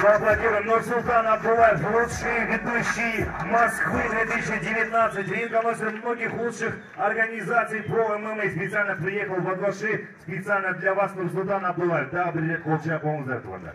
Поаплодируем. Нурсултан Абдулаев, лучший ведущий Москвы 2019. Ринг-анонсер многих лучших организаций по ММА. Специально приехал в Адваши. Специально для вас Нурсултан Абдулаев. Да, билет колчак оңуздар туғандар.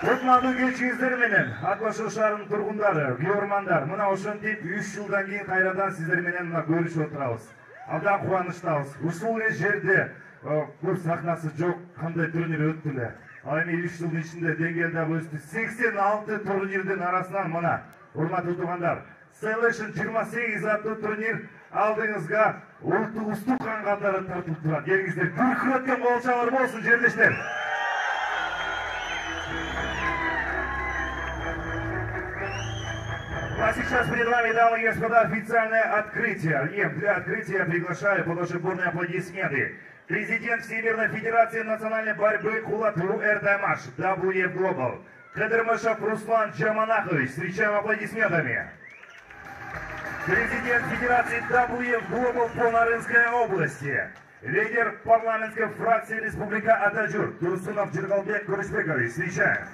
Кутмандуу кечиңиздер менен Адваши шаарынын тургундары, күйөрмандар, мына ошентип 3 жылдан кийин кайрадан сиздер менен мына көрүшүп отурабыз. Абдан кубанычтабыз. Ушул жерде көп сахнасы жок, кандай турнир өттү эле. Ал эми 3 жылдын ичинде деңгээл дагы өстү. 86 турнирдин арасынан мына урматтуу туугандар, Celebration 28 аттуу турнир алдыңызга улуттук кан катары тартылып турат. Келиңиздер, күркүрөткөн болчалар болсун жерлештер. А сейчас перед вами, дамы и господа, официальное открытие. И для открытия приглашаю под ваши бурные аплодисменты президент Всемирной Федерации национальной борьбы Кулатуру Эрдаймаш, WF Global, Кадырмышев Руслан Джаманахович. Встречаем аплодисментами. Президент Федерации WF Global по Нарынской области, лидер парламентской фракции Республика Атажур Турсунов Джиргалбек Курышбекович. Встречаем.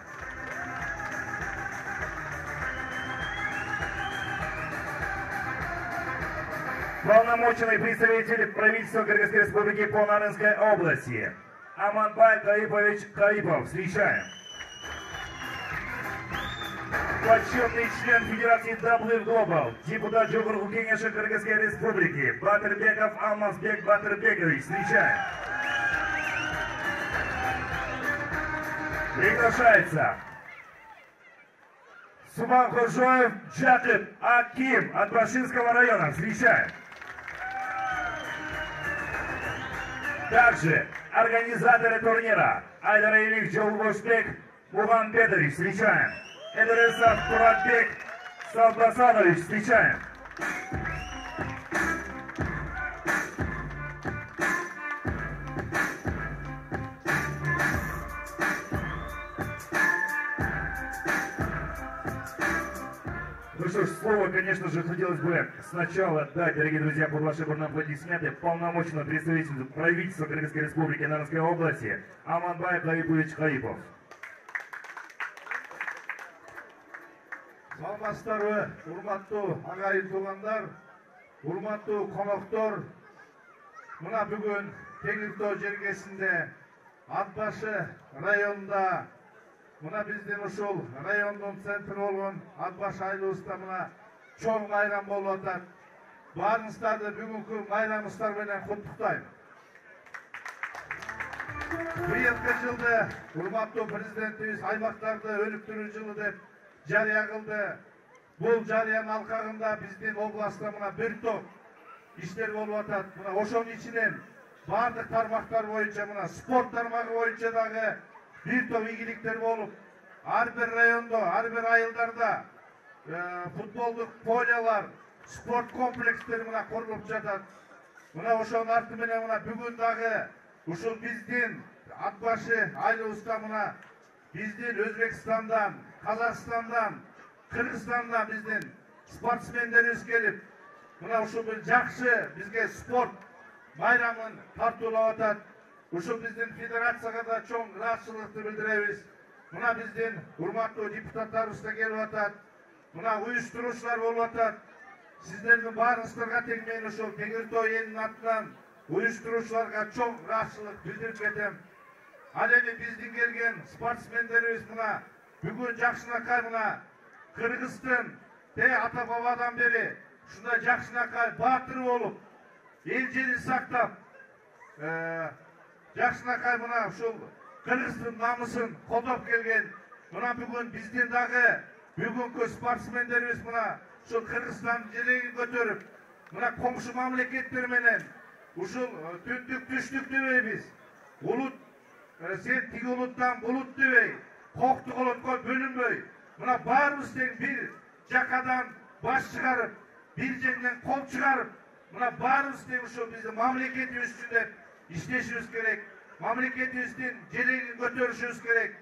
Полномоченный представитель правительства Кыргызской Республики по Нарынской области Аманбай Каипович Каипов. Встречаем. Почетный член Федерации WF Global, депутат Жогорку Кеңеши Кыргызской Республики Батырбеков Алмазбек Батырбекович. Встречаем. Приглашается Субанхожоев Джакып Аким от Башинского района. Встречаем. Также организаторы турнира Айдаралиев Жолбошбек Мухамбетович. Встречаем. Эдересов Туратбек Салбасанович. Встречаем. Ну что ж, слово, конечно же, хотелось бы сначала дать, дорогие друзья, под ваши бурные аплодисменты полномоченному представителю правительства Кыргызской Республики Нарынской области Аманбай Каипович Каипов. Саламатсыздарбы, урматтуу агайын туугандар, урматтуу коноктор. Мына бүгүн Теңиртоо жергесинде Атбашы районунда, мына биздин ушул райондун центри болгон Атбаш айлыбызда мына чоң майрам болуп атат. Баарыңыздарды бүгүнкү майрамыңыздар менен куттуктайм. Быйылкы жылды урматтуу президентибиз аймактарды өнүктүрүү жылы деп жарыя кылды. Бул жарыянын алкагында биздин областта мына бир топ иштер болуп атат. Мына ошонун ичинен баардык тармактар боюнча, мына спорт тармагы боюнча дагы бир топ ийгиликтер болуп, ар бир райондо, ар бир айылдарда футболдук полялар, спорт комплекстери мына курулуп жатат. Мына ошонун арты менен мына бүгүн дагы ушул биздин Атбашы айлыбызда мына биздин Өзбекстандан, Казакстандан, Кыргызстандан биздин спортсмендерибиз келип, мына ушул бир жакшы бизге спорт майрамын тартуулап атат. Ушул биздин федерацияга да чоң ыраазычылыкты билдиребиз. Мына биздин урматтуу депутаттарыбыз да келип атат. Мына уюштуруучулар болуп атат. Сиздердин баарыңыздарга тең мен ушул Теңиртоо элинин атынан уюштуруучуларга чоң ыраазычылык билдирип кетем. Ал эми биздин келген спортсмендерибиз мына бүгүн жакшынакай мына Кыргыздын ата бабадан бери ушундай жакшынакай баатыр болуп, эл жерин сактап, жакшынакай мына ушул Кыргыздын намысын колдоп келген. Мына бүгүн биздин дагы бүгүнкү спортсмендерибиз мына ушул Кыргызстан желегин көтөрүп, мына коңшу мамлекеттер менен ушул түндүк түштүк дебейбиз. Улут сен тиги улуттан булут дебей, кокту колоткой бөлүнбөй, мына баарыбыз тең бир жакадан баш чыгарып, бир жерден кол чыгарып, мына баарыбыз тең ушул биздин мамлекетибиз үчүн деп иштешибиз керек. Мамлекетибиздин желегин көтөрүшүбүз керек.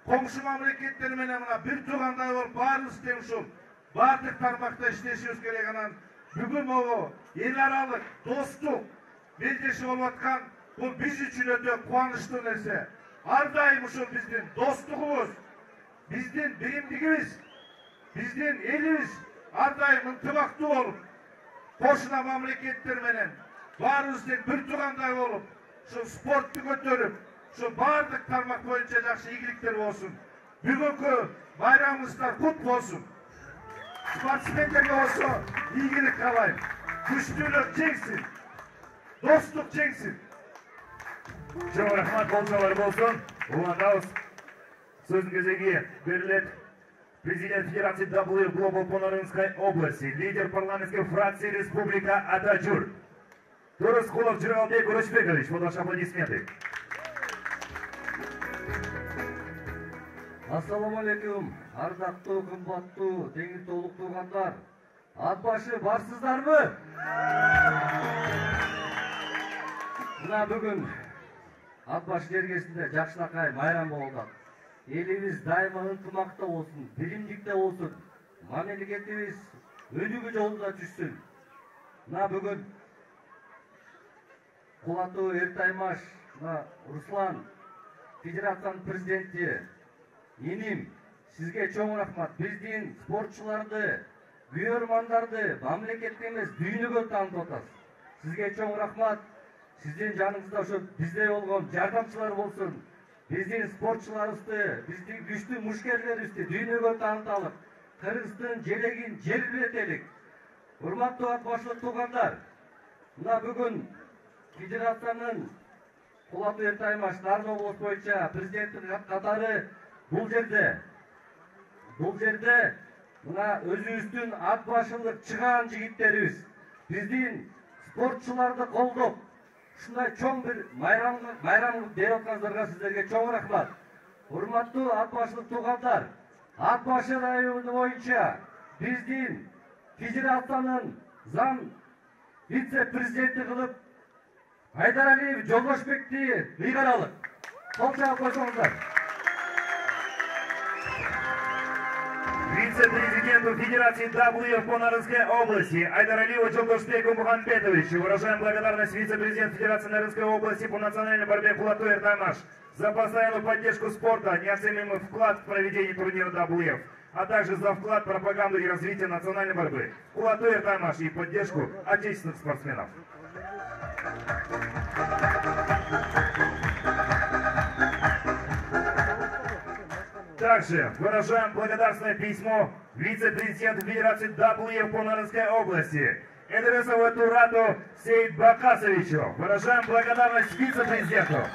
Коңшу мамлекеттер менен мына бир туугандай болуп баарыбыз тең ушул баардык тармакта иштешибиз керек. Анан бүгүн могу эл аралык достук белдеши болуп аткан бул биз үчүн өтө кубанычтуу нерсе. ар дайым ушул биздин достугубуз, биздин биримдигибиз, биздин элибиз ар дайым ынтымактуу болуп, кошуна мамлекеттер менен баарыбыз тең бир туугандай болуп, ушул спортту көтөрүп, ушул баардык тармак боюнча жакшы ийгиликтер болсун. Бүгүнкү байрамыңыздар кут болсун. Спортсмендерге болсо ийгилик каалайм. Күчтүүлөр жеңсин. Достук жеңсин. Чоң рахмат болсолар болсун. Уландабыз. Сөздүн кезеги берилет. Президент Федерации WF Global по Нарынской области, лидер парламентской фракции Республика Атачур. Турыскулов Жыргалбек Урочбекович, ваши аплодисменты. Ассаламу алейкум, ардактуу, кымбаттуу, теңир толук туугандар. Ат башы барсыздарбы? Мына бүгүн ат башы жергесинде жакшынакай майрам болуп атат. Элибиз дайыма ынтымакта болсун, биримдикте болсун, мамлекетибиз өнүгүү жолунда түшсүн. Мына бүгүн Кулатуу Эртаймаш, Руслан, федерациянын президенти, эним, сизге чоң рахмат. Биздин спортчуларды, күйөрмандарды мамлекетте эмес дүйнөгө таанытып атасыз. Сизге чоң рахмат. Сиздин жаныңызда ошо бизде болгон жардамчылар болсун. Биздин спортчуларыбызды, биздин күчтүү мушкерлерибизди дүйнөгө тааныталык. Кыргыздын желегин желбиретелик. Урматтуу ат башлык туугандар, мына бүгүн федерациянын Кулатуу Эртаймаш Нарын облус боюнча президенттин катары бул жерде мына өзүбүздүн ат башылык чыгаан жигиттерибиз биздин спортчуларды колдоп ушундай чоң бир майрам берип атканыңыздарга сиздерге чоң рахмат. Урматтуу ат башылык туугандар, ат башы району боюнча биздин федерациянын зам вице-президенти кылып Айдаралиев Жолдошбекти ыйгаралык. Кол чаап койсоңуздар. Вице-президенту Федерации WF по Нарынской области Айдаралиеву Жолдошбеку Мухамбетовичу выражаем благодарность вице-президенту Федерации Нарынской области по национальной борьбе Кулатуу Эртаймаш за постоянную поддержку спорта, неоценимый вклад в проведение турнира WF, а также за вклад в пропаганду и развитие национальной борьбы Кулатуу Эртаймаш и поддержку отечественных спортсменов. Также выражаем благодарственное письмо вице-президенту Федерации WF по Нарынской области Эдресову Турату Сейдбакасовичу. Выражаем благодарность вице-президенту.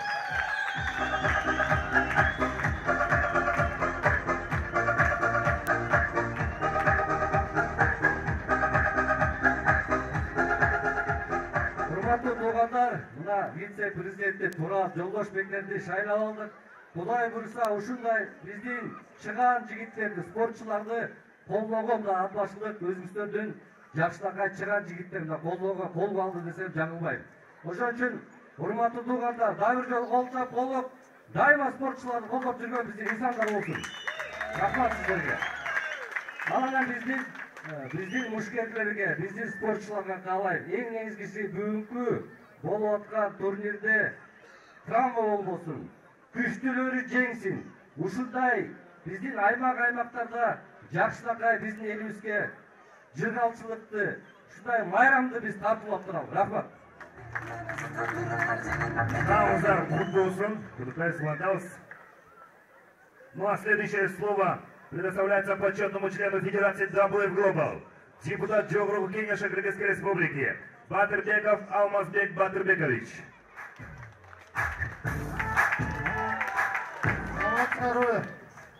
Урматтуу туугандар, мына вице-президенти Турат Жолдошбектерди шайлап алдык. Кудай буйруса ушундай биздин чыгаан жигиттерди, спортчуларды колдогон ат башылык өзүбүздөрдүн жакшынакай чыгаан жигиттерин колго алды десем жаңылбайм. Ошон үчүн урматтуу туугандар, дагы бир жолу кол чап колдоп, дайыма спортчуларды колдоп жүргөн биздин инсандар болсун. Рахмат сиздерге. Анан биздин мушкерлерге, биздин спортчуларга каалайм, эң негизгиси бүгүнкү болуп аткан турнирде травма болбосун. Күчтүүлөрү жеңсин. Ушундай биздин аймактарда жакшынакай биздин элибизге жыргалчылыкты, ушундай майрамды биз тартуулап турабыз. Рахмат. Намазар кут болсун. Ну а следующее слово предоставляется почетному члену Федерации WF Global, депутат Жогрук Кенеша Кыргызской Республики Батырбеков Алмазбек Батырбекович.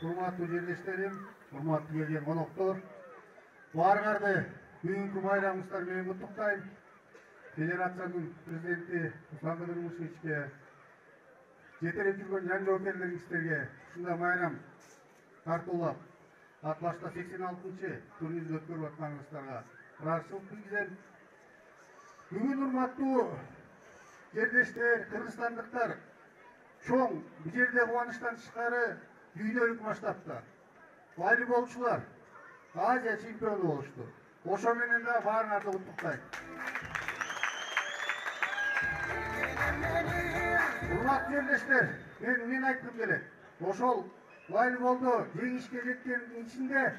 Урматтуу жерлештерим, урматтуу келген коноктор, баарыңарды бүгүнкү майрамыңыздар менен куттуктайм. Федерациянын президенти Руслан Кыдырмышевичке, жетелеп жүргөн жаңы жоокерлериңиздерге ушундай майрам тартуулап, ат башта 86-чы турнирди өткөрүп атканыңыздарга ыраазычылык билдирем. Бүгүн урматтуу жерлештер, кыргызстандыктар, чоң бул жерде кубанычтан тышкары дүйнөлүк масштабта волейболчулар Азия чемпиону болушту. Ошо менен да баарыңарды куттуктайм. Урматтуу жерлештер, мен айткым келет. Ошол волейболдо жеңишке жеткендин ичинде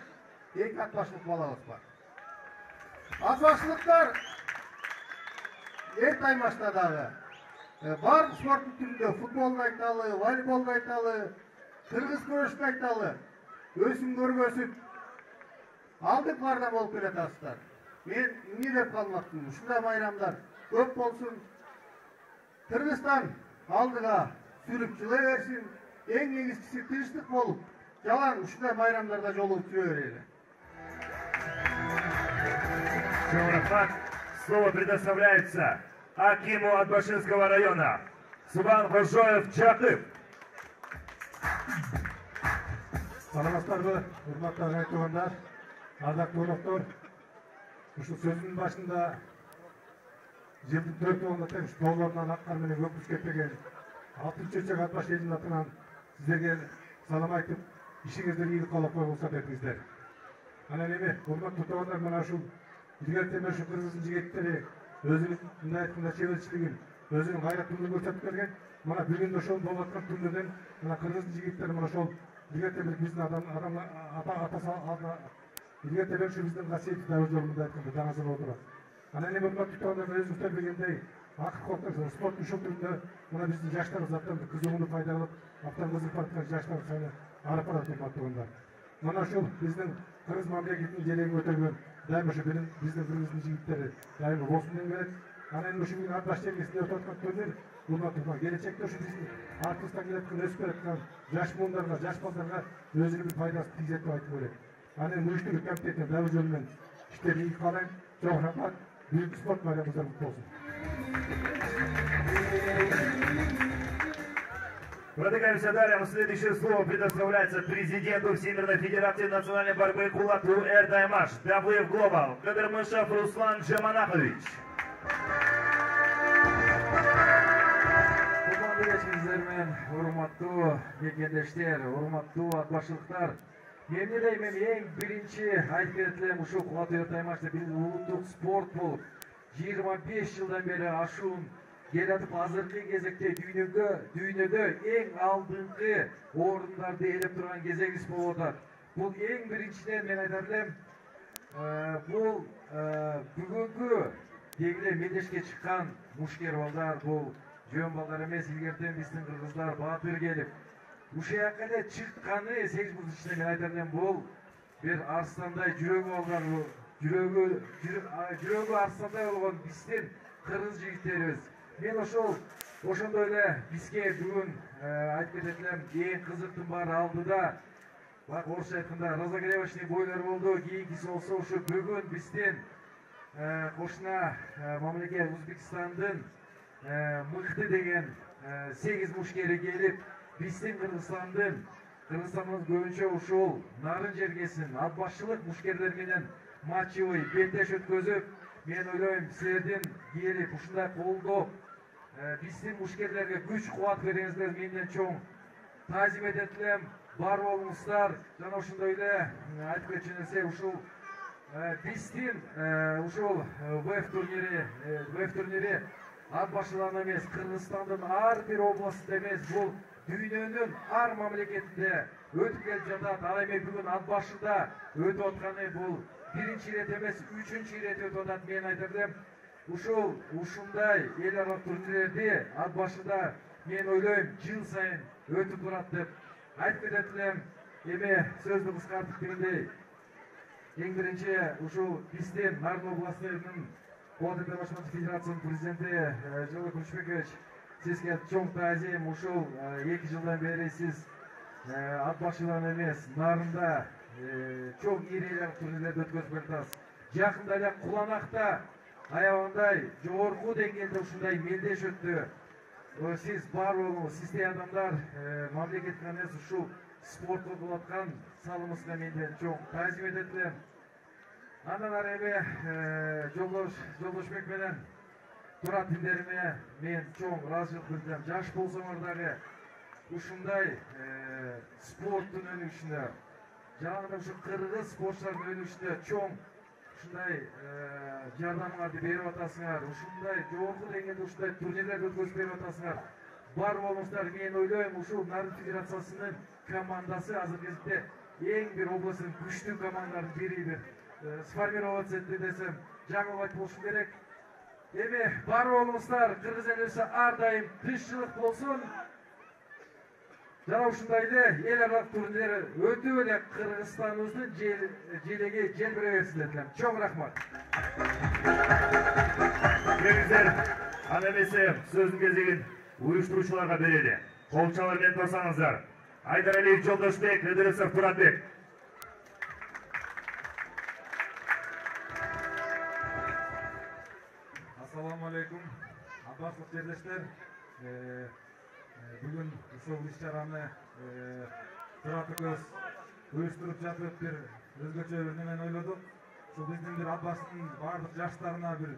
2 атбашлык балабыз бар. Атбашлыктар эрт аймашта дагы бардык спорттун түрүндө футболду айталы, волейболду айталы, кыргыз күрөшүн айталы, өсүм көргөзүп алдыкlardan болуп келатасыздар. Мен эмне деп калмакмын? Ушундай майрамдар көп болсун. Кыргызстан алдыга сүрүп жыла берсин. Эң негизгиси тынчтык болуп, жалаң ушундай майрамдарда жолугуп жүрө берели. Слово предоставляется акиму Атбашинского района Субанхожоев Жакып. Саламатсыздарбы, урматтуу ағайын-туугандар, ардактуу коноктор. Ушул сөзүнүн башында жылдын 4-ында тең тоолорунан ак кар менен көпүрүп кетпеген 6-чечек Атбаш элинин атынан сиздерге салам айтып, ишиңиздер ийгилик каалап койгулса дедиңиздер. Анан эми урматтуу туугандар, мына ушул илгертеме ушу кыргыздын жигиттери өзүнүн мындай айтканда чеберчилигин, өзүнүн гайраттуулугун көрсөтүп келген. Мына бүгүн ошол болуп аткан күндөрдөн мына кыргыздын жигиттери мына ошол илгертеме биздин илгертеме ушу биздин касиеттүү дагы жолу мындай айтканда даңазыр болуп турат. Анан эми урматтуу туугандар, өзүңүздөр билгендей, акыркы спорттун ушул түрүндө мына биздин жаштарыбыз абдан кызыгууну пайда кылып, абдан кызыгып бараткан жаштар саны арып барат, урматтуу туугандар. Мына ушул биздин кыргыз мамлекетинин желегин көтөргөн дайыма ушу биздин кыргыздын жигиттери дайыма болсун деп келет. Анан ушу бүгүн Атбаш чеңгесинде өтүп аткан турнир, урматтуу туугандар, келечекте ушу биздин артыбыздан келаткан өсүп келаткан жаш муундарга, жаш балдарга өзүнүн бир пайдасын тийгизет деп айтып келет. Анан уюштуруу комитетине дагы жолу менен иштери ийгилик каалайм. Чоң рахмат. Büyük sport bayramımızda mutlu olsun. Продвигаемся далее. Следующее слово предоставляется президенту Всемирной Федерации национальной борьбы Кулату Эрдаймаш, WF Global, Кадырмышев Руслан Джаманахович. Курмандуу кечиңиздер менен урматтуу мекендештер, урматтуу атбашылыктар. Эмне дейм, эң биринчи айтып кетелем, ушул Кулату Эрдаймашта биздин улуттук спорт болуп 25 жылдан бери ашуун келатып, азыркы кезекте дүйнөдө эң алдыңкы орундарды ээлеп турган кезегибиз болуп атат. Бул эң биринчиден мен айтат элем, бул бүгүнкү дегиле мелдешке чыккан мушкер балдар, бул жөн балдар эмес, илгертен биздин кыргыздар баатыр келип ушул жака эле чыкканы 8 муздун ичинде мен айтат элем, бул бир арстандай жүрөгү алган, жүрөгү арстандай болгон биздин кыргыз жигиттерибиз. Мен ошондой эле бизге бүгүн айтып кетет элем, эң кызыктын баары алдыда. Бак орусча айтканда разогревочный бойлор болду, кийинкиси болсо ушу бүгүн биздин кошуна мамлекет Өзбекстандын мыкты деген 8 мушкери келип, биздин Кыргызстандын көбүнчө ушул нарын жергесин атбашчылык мушкерлер менен матчевый беттеш өткөзүп, мен ойлойм, силердин келип ушундай колдоп, биздин мушкерлерге күч кубат бериңиздер менден чоң таазим этет элем. Бар болуңуздар. Жана ошондой эле айтып кетчү нерсе, ушул биздин ушул ВФ турнири атбашылардан эмес, Кыргызстандын ар бир областында эмес, бул дүйнөнүн ар мамлекетинде өтүп келип жатат. Ал эми бүгүн Атбашыда өтүп атканы бул биринчи ирет эмес, 3-чү ирет өтүп атат. Мен айтат элем, ушундай эл аралык турнирлерди Атбашыда мен ойлойм жыл сайын өтүп турат деп айтып кетет элем. Эми сөздү кыскартып дегендей, эң биринчи ушул биздин Нарын областынын Кулату Эрдаймаш Федерациянын президенти Жылы Күчбекович, сизге чоң таазим. Ушул 2 жылдан бери сиз Атбашыдан эмес, Нарында чоң ири турнирлерди өткөзүп келатасыз. Жакында эле Куланакта аябагандай жогорку деңгээлде ушундай мелдеш өттү. Сиз бар болуңуз, сиздей адамдар мамлекеттин эмес, ушул спортко кылып аткан салымыңызга менден чоң таазим этет элем. Андан ары эми Жолдошбек менен Турат тимдериме мен чоң ыраазычылык билдирем. Жаш болсоңор дагы ушундай спорттун өнүгүшүнө, жана ушу кыргыз спортчулардын өнүгүшүнө чоң ушундай жардамыңарды берип атасыңар. Ушундай жогорку деңгээлде ушундай турнирлерди өткөзүп берип атасыңар. бар болуңуздар. Мен ойлойм, ушул Нарын Федерациясынын командасы азыркы кезде эң бир областтын күчтүү командалардын бири бир сформироваться этти десем жаңылып айтпошум керек. Эми бар болуңуздар, кыргыз элиси ар дайым тынччылык болсун. Жана ушундай эле эл аралык турнир өтүп эле Кыргызстаныбыздын желеги желбире берсин деп элем. Чоң рахмат. Келиңиздер, аны эмесе сөздүн кезегин уюштуруучуларга берели. Кол чалар менен тосаңыздар. Айдаралиев Жолдошбек, Ыдырысов Туратбек. Ассаламу алейкум. Аббаслык жерлештер. Бүгүн ушул иш-чараны Туратбек уюштуруп жатып бир өзгөчө бир немени ойлодук. Ушул биздин бир Аббастын бардык жаштарына бир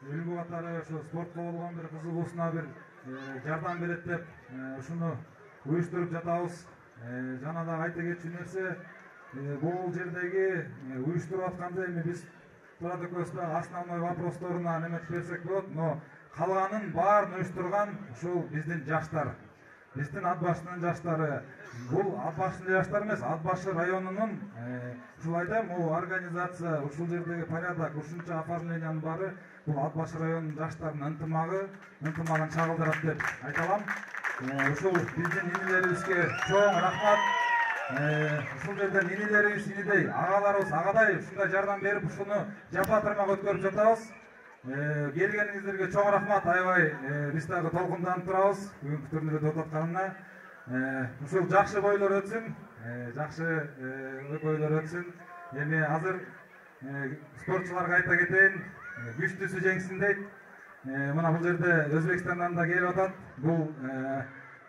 үлгү катары ошо спортко болгон бир кызыгуусуна бир жардам берет деп ушуну уюштуруп жатабыз. Жана да айта кетчү нерсе, бул жердеги уюштуруп атканда эми биз Туратбекте основной вопросторуна неметип берсек болот, но калганын баарын уюштурган ушул биздин жаштар. Биздин Ат башынын жаштары. Бул Ат башынын жаштары эмес, Ат башы районунун ушул айтайм, бул организация, ушул жердеги порядок, ушунча оформлениянын баары бул Ат башы районунун жаштарынын ынтымагын чагылдырат деп айта алам. Ушул биздин инилерибизге чоң рахмат. Ушул жерден инилерибиз инидей, агаларыбыз агадай ушундай жардам берип, ушуну жапа-тырмак өткөрүп жатабыз. Келгениңиздерге чоң рахмат. Аябай биз дагы толкунданып турабыз бүгүнкү турнирде өтүп атканына. Ушул жакшы бойлор өтсүн, жакшы бойлор өтсүн. Эми азыр спортчуларга айта кетейин, күчтүүсү жеңсин дейт. Мына бул жерде Өзбекстандан да келип атат. Бул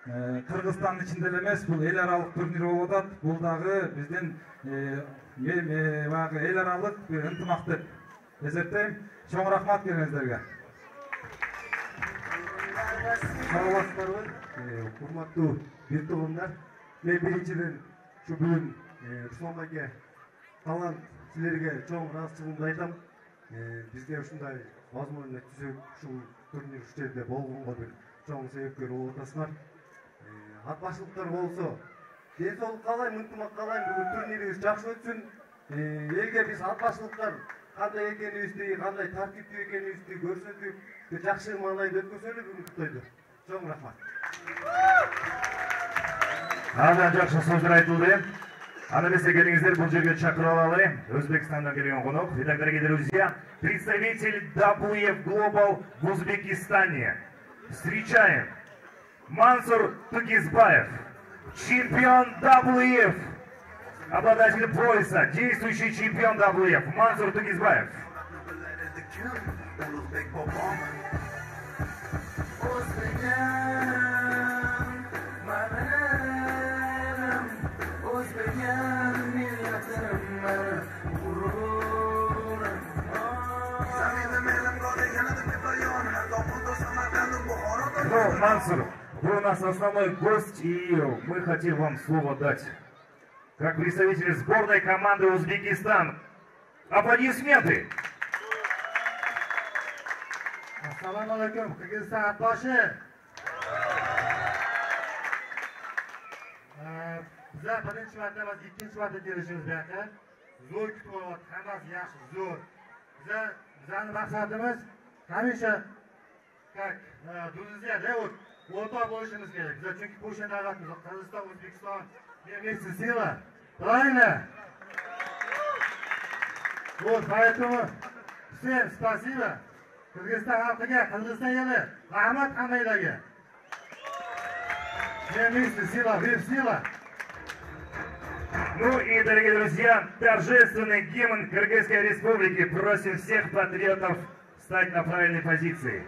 Кыргызстандын ичинде эле эмес, бул эл аралык турнир болуп атат. Бул дагы биздин баягы эл аралык бир ынтымак деп эсептейм. Чоң рахмат келгениңиздерге. Саламатсыздарбы, урматтуу бир туугандар. Мен биринчиден ушу бүгүн Руслан байке талант силерге чоң ыраазычылыгымды айтам. Бизге ушундай возможность түзүп, ушул турнир ушул жерде болгонго бир чоң себепкер болуп атасыңар. Ат башылыктар болсо, ден соолук каалайм, ынтымак каалайм, бүгүн турнирибиз жакшы өтсүн. Элге биз ат башылыктар кандай экенибизди, кандай тартиптүү экенибизди көрсөтүп, жакшы маанайда өткөзөлү бүгүнкү тойду. Чоң рахмат. Абдан жакшы сөздөр айтылды. Аны эмесе келиңиздер, бул жерге чакырып алалы. Өзбекстандан келген конок. Итак, дорогие друзья, представитель WF Global в Узбекистане. Встречаем Мансур Тугизбаев, чемпион WF, обладатель пояса, действующий чемпион WF, Мансур Тугизбаев. Ну, Мансур, вы у нас основной гость, и мы хотим вам слово дать. Как представитель сборной команды Узбекистан. Аплодисменты! Assalomu alaykum, Kırgızistan At başı. Bizlar birinchi marta emas, ikkinchi marta kelishimiz bu yoqqa. Zo'r kutib olyapti, hammasi yaxshi, zo'r. Bizlarning maqsadimiz hamisha как друзья, вот o'rtoq bo'lishimiz kerak. Bizlar chunki qo'shni davlatmiz, Qirg'iziston, O'zbekiston, вместе сила. Правильно? Вот, поэтому всем спасибо. Kırgızistan halkıga, Kırgızistan eli, rahmat hammanglarga. Вместе сила, вместе сила. Ну и, дорогие друзья, торжественный гимн Кыргызской Республики. Просим всех патриотов встать на правильной позиции.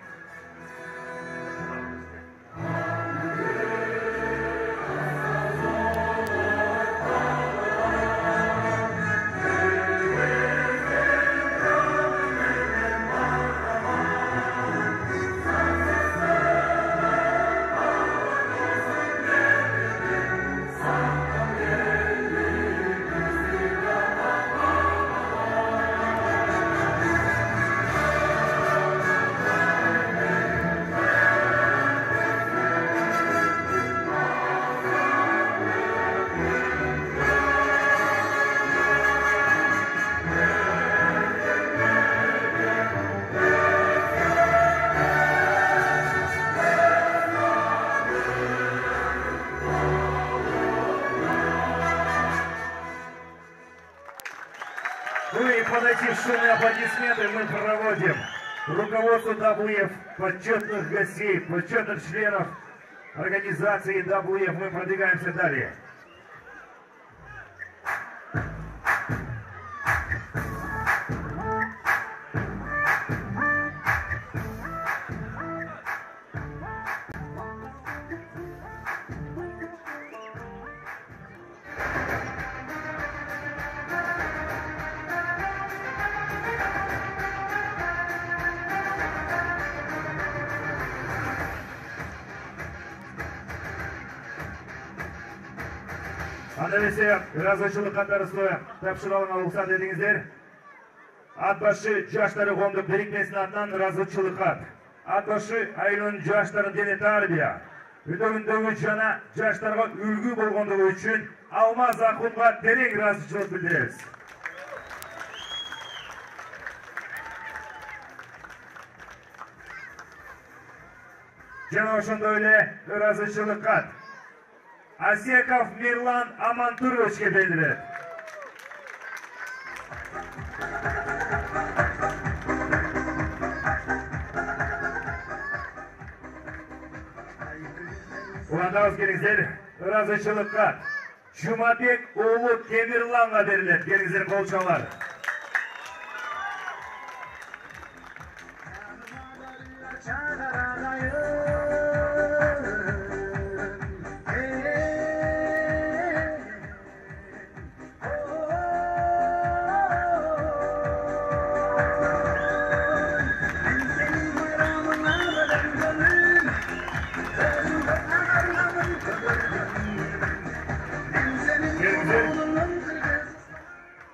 Большие аплодисменты мы проводим руководству WF, почетных гостей, почетных членов организации WF. Мы продвигаемся далее. Андайлесе ыраазычылык катарысы тапшырылган уруксат этиңиздер. Ат башы жаштары коомдук бирикмесинин атынан ыраазычылык кат. Ат башы айылынын жаштарын дене тарбия өтөгүндөгү жана жаштарга үлгү болгондугу үчүн Алмаз Акунга терең ыраазычылык билдиребиз. Жана ошондой эле ыраазычылык кат Асеков Мирлан Амантуровичке берилет. Уландабыз келиңиздер, ыраазычылык кат Жумабек уулу Темирланга берилет. Келиңиздер, кол чабыңдар.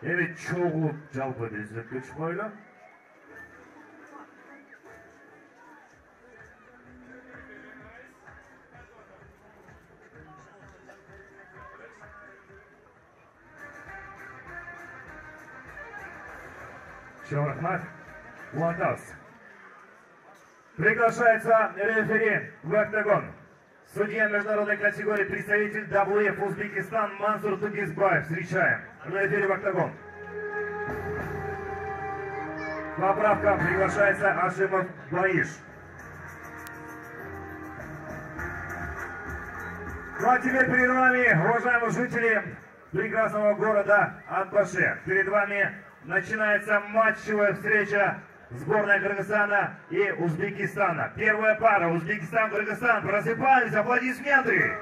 Evet, çoğulup жалпы бездетпекчи бойлу. Всем рахмат. Уландабыз. Приглашается рефери в октагон. Судья международной категории, представитель WF Узбекистан Мансур Тугизбаев. Встречаем. Рефери в октагон. Поправка, приглашается Ашимов Баиш. Ну а теперь перед вами, уважаемые жители прекрасного города Ат-Баши, перед вами начинается матчевая встреча сборной Кыргызстана и Узбекистана. Первая пара Узбекистан-Кыргызстан. Просыпались, аплодисменты!